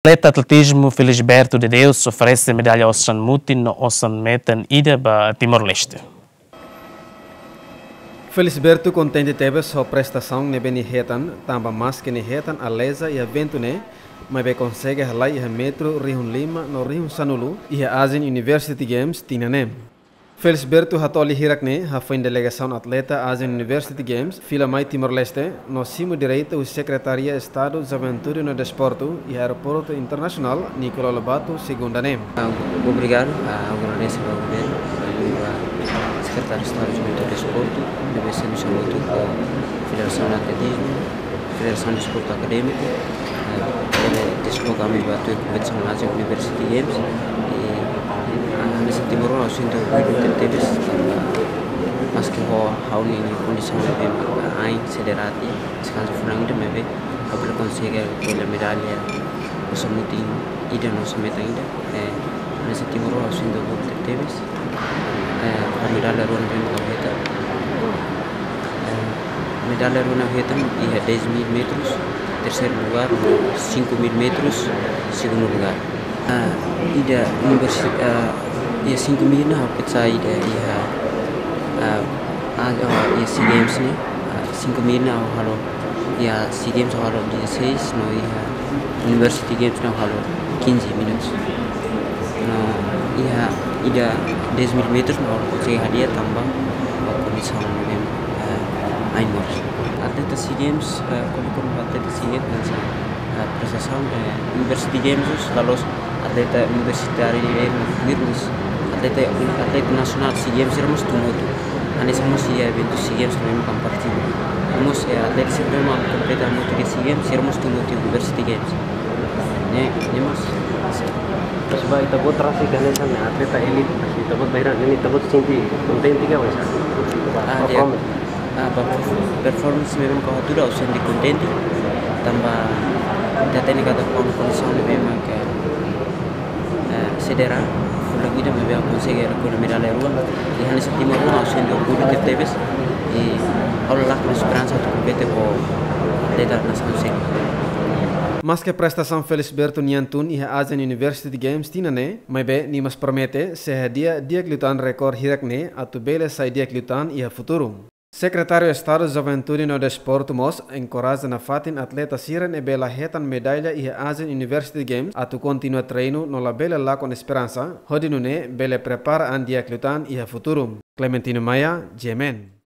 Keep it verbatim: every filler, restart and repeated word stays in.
Atleta atletizmu Felisberto de Deus oferese medalla osan mutin no osan metan ida ba Timor-Leste. Felisberto kontente tebes ho prestasaun ne'ebé nia hetan, tanba maske nia hetan a leza iha eventu ne'e, maibé konsege halai iha metru rihun lima no rihun sanulu iha Asian University Games tinan ne'e. Felisberto hato'o lia hirak-ne'e hafoin delegasaun atleta Asian University Games fila mai Timor-Leste no simu direita husi Sekretaria Estadu Juventude no Desportu iha Aeroportu Internasionál Nicolau Lobato, segunda ne'e. Ah, obrigadu, ah, agradese ba governu, ba Sekretáriu Estadu Juventude no Desportu, ne'ebé servisu hamutuk ho Federasaun Atletizmu, Federasaun Desportu Akadémiku, eh, ne'ebé desloka ami ba tuir kompetisaun Asian University Games, i, ah, ami sente motivu, sente orgullu tebetebes, maske ho ha'u-nia kondisaun ne'ebé, ah, ain sederati, deskansa fulan ida maibé, ha'u bele konsege rekolla medalla osan mutin ida no osan metan ida. Eh, ami sente motivu, sente orgullu tebetebes. Eh, ba medalla rua ne'ebé mak ha'u hetan. Eh, medalla rua ne'ebé ha'u hetan iha dez mil metros, terseiru lugar, cinco mil metros, segundu lugar. Ah, ida universi-, ah, iha cinco mil ne'e ha'u pesa ida iha, ah, ah, ah, iha SEA Games ne'e, ah, cinco mil ne'e ha'u halo iha SEA Games ha'u halo dezasseis, no iha University Games ne'e ha'u halo quinze minutos. No iha ida dez mil metros ne'e ha'u konsege hadi'a tanba kondisaun ne'ebé, eh, ain moras. Atleta SEA Games, eh, kuandu, kuandu atleta SEA Games hanesan, eh, prestasaun, eh, University Games, la'ós atleta universitáriu ne'e, eh, virus, atleta, atleta nasionál SEA Games, sira mós tun hotu. Hanesan mós iha eventu SEA Games ne'ebé mak ami partisipa. Mós, eh, atleta sira ne'ebé mak kompete hamutuk iha SEA Games, sira mós tun hotu iha University Games. Ne'e, ne'e mós. Mas ba ita-boot rasik hanesan atleta elite, mas ita-boot bainhira ne'e ita-boot sente kontente ka, wes? Ah, di'ak. Performance. Ah, ba perf-, performance ne'ebé mak ha'u hatudu ha'u sente kontente. Tanba ita hatene katak ho kondisaun ne'ebé mak, eh, sederati, fulan ida maibé ha'u konsege rekolla medalla rua. I hanesan timoroan ha'u sente orgullu tebetebes. I ha'u la lakon esperansa atu kompete ho atleta nasaun seluk. Maske prestasaun Felisberto nian tun iha Asian University Games tinan ne'e, maibé nia mós promete sei hadi'a di'ak liután rekorde hirak-ne'e atu bele sai di'ak liután iha futuru. Sekretáriu Estadu Juventude no Desportu mós enkoraja nafatin atleta sira ne'ebé la hetan medalla iha Asian University Games atu kontinua treinu no labele lakon esperansa, hodi nune'e bele prepara an di'ak liután iha futuru. Clementino Maia, G M N.